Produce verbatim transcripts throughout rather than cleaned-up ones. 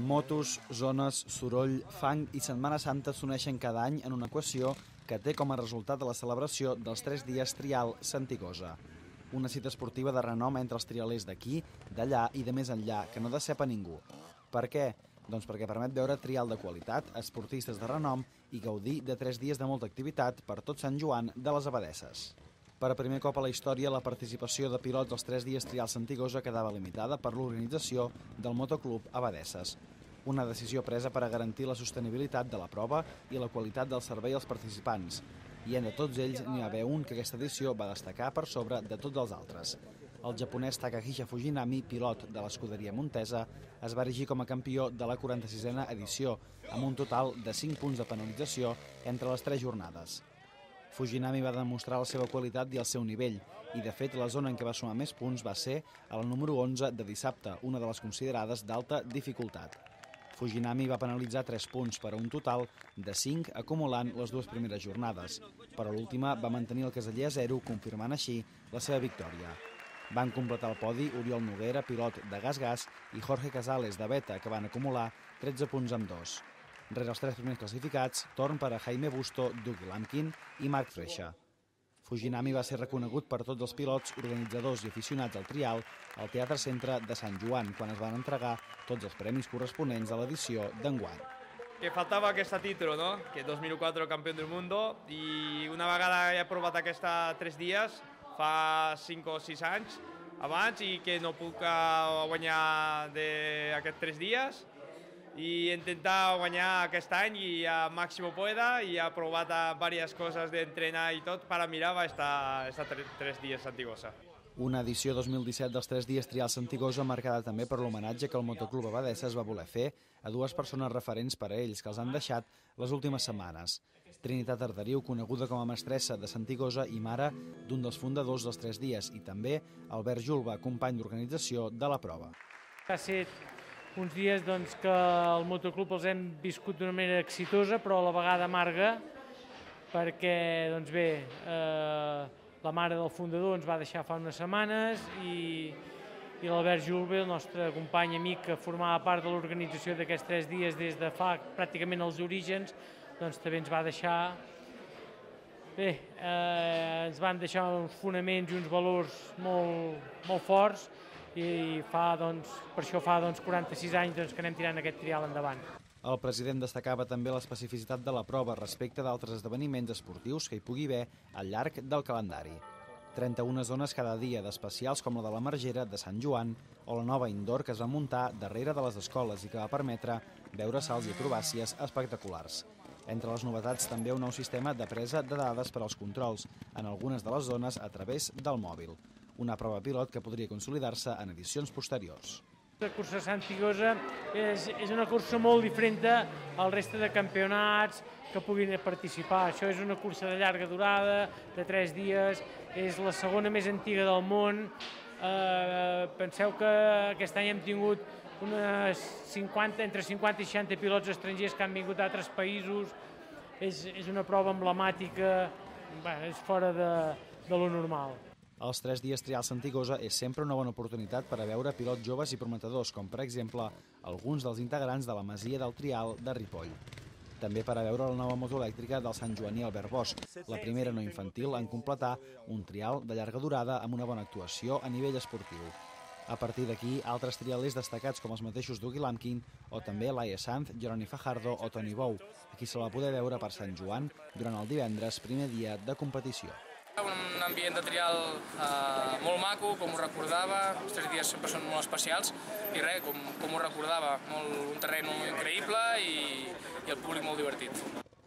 Motos, zones, soroll, fang i Setmana Santa s'uneixen cada any en una equació que té com a resultat la celebració dels tres dies Trial Santigosa. Una cita esportiva de renom entre els trialers d'aquí, d'allà i de més enllà, que no decep a ningú. Per què? Doncs perquè permet veure trial de qualitat, esportistes de renom i gaudir de tres dies de molta activitat per tot Sant Joan de les Abadesses. Per primer cop a la història, la participació de pilots als tres dies Trial Santigosa quedava limitada per l'organització del Motoclub Abadesses. Una decisió presa per a garantir la sostenibilitat de la prova i la qualitat del servei als participants. I entre tots ells n'hi va haver un que aquesta edició va destacar per sobre de tots els altres. El japonès Takahisa Fujinami, pilot de l'escuderia Montesa, es va erigir com a campió de la quaranta-sisena edició, amb un total de cinc punts de penalització entre les tres jornades. Fujinami va demostrar la seva qualitat i el seu nivell, i de fet la zona en què va sumar més punts va ser a la número onze de dissabte, una de les considerades d'alta dificultat. Fujinami va penalitzar tres punts per a un total de cinc acumulant les dues primeres jornades, però l'última va mantenir el caseller a zero, confirmant així la seva victòria. Van completar el podi Oriol Noguera, pilot de Gas Gas, i Jorge Casales, de Beta, que van acumular tretze punts amb dos. Rere els tres primers classificats, torn per a Jaime Busto, Doug Lampkin i Marc Freixa. Fujinami va ser reconegut per tots els pilots, organitzadors i aficionats al trial al Teatre Centre de Sant Joan, quan es van entregar tots els premis corresponents a l'edició d'enguany. Que faltava aquest títol, no? Que dos mil quatre campió del món, i una vegada he provat aquesta tres dies, fa cinc o sis anys abans, i que no puc guanyar d'aquests tres dies, i intentar guanyar aquest any i a màxim pueda, i ha provat diverses coses d'entrenar i tot per a mirar estar tres dies Santigosa. Una edició dos mil disset dels tres dies Trial Santigosa marcada també per l'homenatge que el Motoclub Abadesses va voler fer a dues persones referents per a ells que els han deixat les últimes setmanes. Trinitat Arderiu, coneguda com a mestressa de Santigosa i mare d'un dels fundadors dels tres dies, i també Albert Julba, company d'organització de la prova. Ha estat uns dies doncs, que el motoclub els hem viscut d'una manera exitosa, però a la vegada amarga, perquè doncs bé, eh, la mare del fundador ens va deixar fa unes setmanes i, i l'Albert Julbe, el nostre company amic que formava part de l'organització d'aquests tres dies des de fa pràcticament els orígens, doncs també ens va deixar. Bé, eh, ens van deixar uns fonaments i uns valors molt, molt forts, i fa, doncs, per això fa doncs, quaranta-sis anys doncs, que anem tirant aquest trial endavant. El president destacava també l'especificitat de la prova respecte d'altres esdeveniments esportius que hi pugui haver al llarg del calendari. trenta-una zones cada dia d'especials com la de la Margera de Sant Joan o la nova indoor que es va muntar darrere de les escoles i que va permetre veure salts i acrobàcies espectaculars. Entre les novetats també un nou sistema de presa de dades per als controls en algunes de les zones a través del mòbil. Una prova pilot que podria consolidar-se en edicions posteriors. La cursa Santigosa és, és una cursa molt diferent al resta de campionats que puguin participar. Això és una cursa de llarga durada, de tres dies, és la segona més antiga del món. Eh, penseu que aquest any hem tingut unes cinquanta, entre cinquanta i seixanta pilots estrangers que han vingut d'altres països. És, és una prova emblemàtica, bé, és fora de, de lo normal. Els tres dies Trial Santigosa és sempre una bona oportunitat per a veure pilots joves i prometedors, com per exemple alguns dels integrants de la Masia del Trial de Ripoll. També per a veure la nova moto elèctrica del Sant Joaní Albert Bosch, la primera no infantil en completar un trial de llarga durada amb una bona actuació a nivell esportiu. A partir d'aquí, altres trialers destacats com els mateixos Doug Lampkin o també Laia Sanz, Jeroni Fajardo o Toni Bou, a qui se la va poder veure per Sant Joan durant el divendres, primer dia de competició. Un ambient de trial eh, molt maco, com ho recordava, els tres dies sempre són molt especials, i res, com, com ho recordava, molt, un terreny increïble i, i el públic molt divertit.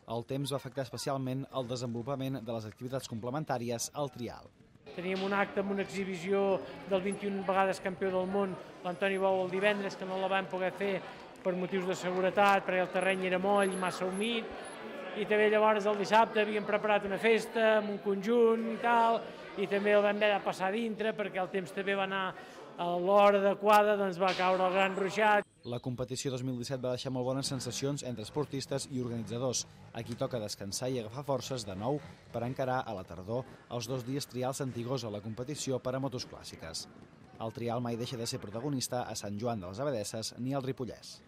El temps va afectar especialment el desenvolupament de les activitats complementàries al trial. Teníem un acte amb una exhibició del vint-i-una vegades campió del món, l'Antoni Bou, el divendres, que no la vam poder fer per motius de seguretat, perquè el terreny era moll, massa humit, i també llavors el dissabte havíem preparat una festa amb un conjunt i tal, i també el vam haver de passar dintre perquè el temps també va anar a l'hora adequada, doncs va caure el gran ruixat. La competició dos mil disset va deixar molt bones sensacions entre esportistes i organitzadors. Aquí toca descansar i agafar forces de nou per encarar a la tardor els dos dies Trial Santigosa, la competició per a motos clàssiques. El trial mai deixa de ser protagonista a Sant Joan de les Abadesses ni al Ripollès.